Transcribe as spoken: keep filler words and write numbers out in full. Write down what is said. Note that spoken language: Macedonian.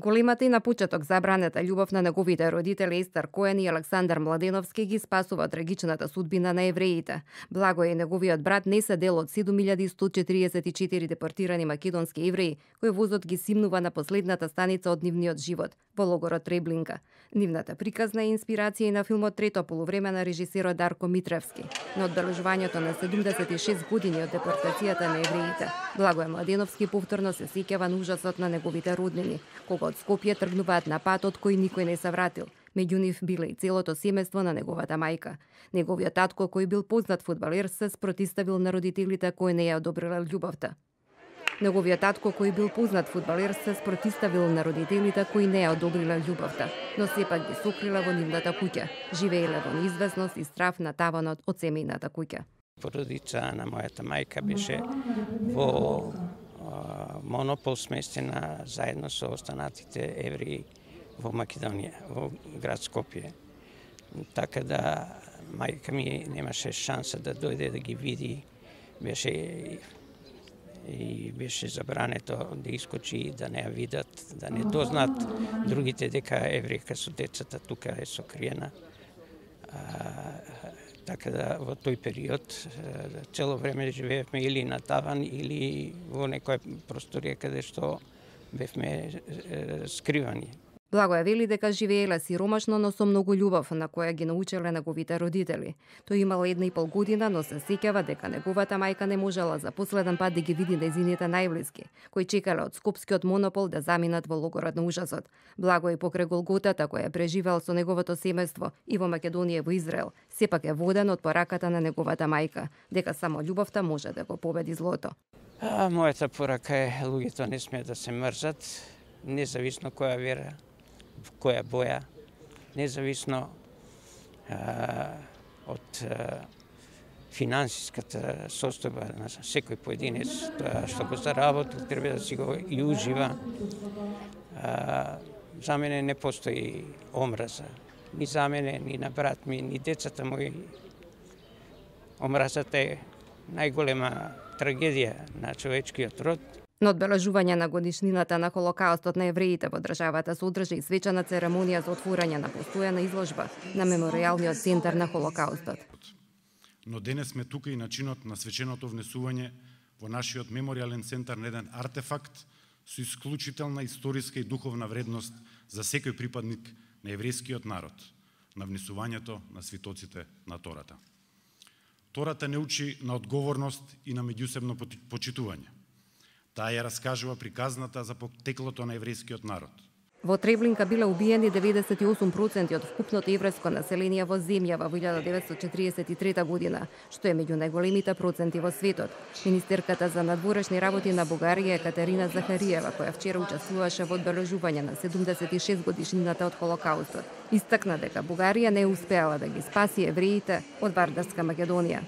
Големата и на почеток забранета љубов на неговите родители Естер Коен и Александар Младеновски ги спасува од трагичната судбина на евреите. Благој и неговиот брат не се дел од седум илјади сто четириесет и четири депортирани македонски евреи, кои возот ги симнува на последната станица од нивниот живот, во логорот Треблинка. Нивната приказна е инспирација и на филмот Трето полувреме на режисерот Дарко Митревски, на одбележувањето на седумдесет и шест години од депортацијата на евреите. Благој Младеновски повторно се сеќава на ужасот на неговите роднини, кога од Скопје тргнуваат на пат од кој никој не се вратил. Меѓу нив биле и целото семејство на неговата мајка. Неговиот татко, кој бил познат фудбалер, се спротиставил на родителите кои не ја одобриле љубовта. Неговиот татко, кој бил познат фудбалер, се спротиставил на родителите кои не ја одобриле љубовта, но сепак ги сокрила во нивната куќа. Живееле во неизвестност и страв на таванот од семејната куќа. Породица на мојата мајка беше во монопол сместена заедно со останатите евреи во Македонија, во град Скопје. Така да мајка ми немаше шанса да дојде да ги види, беше и беше забрането да искочи и да не ја видат, да не дознаат другите дека еврејка со децата тука е сокриена. Така да во тој период цело време живеевме или на таван или во некоја просторија каде што бевме скривани. Благој вели дека живееле сиромашно, но со многу љубов на која ги научеле неговите родители. Тој имал една и пол година, но се сеќава дека неговата мајка не можела за последен пат да ги види нејзините најблиски, кои чекале од скопскиот монопол да заминат во логорот на ужасот. Благој покрај голготата која преживел со неговото семејство и во Македонија и во Израел, сепак е воден од пораката на неговата мајка, дека само љубовта може да го победи злото. А, мојата порака е луѓето не смеат да се мрзат, независно која вера, која боја, независно а, од а, финансиската состојба на секој поединец, тоа што го заработил, треба да си го и ужива. А, за мене не постои омраза, ни за мене, ни на брат ми, ни децата мои. Омразата е најголема трагедија на човечкиот род. На одбележување на годишнината на Холокаустот на евреите во државата се одржа и свечена церемонија за отворање на постојана изложба на Меморијалниот центар на Холокаустот. Но денес сме тука и начинот на свеченото внесување во нашиот меморијален центар на еден артефакт со исклучителна историска и духовна вредност за секој припадник на еврејскиот народ, на внесувањето на свитоците на Тората. Тората не учи на одговорност и на меѓусебно почитување. Таа ја раскажува приказната за потеклото на еврејскиот народ. Во Треблинка биле убиени деветдесет и осум проценти од вкупното еврејско население во земјава во илјада деветстотини четиридесет и трета година, што е меѓу најголемите проценти во светот. Министерката за надворешни работи на Бугарија Екатерина Захариева, која вчера учествуваше во одбележување на седумдесет и шест годишнината од Холокаустот, истакна дека Бугарија не успеала да ги спаси евреите од вардарска Македонија.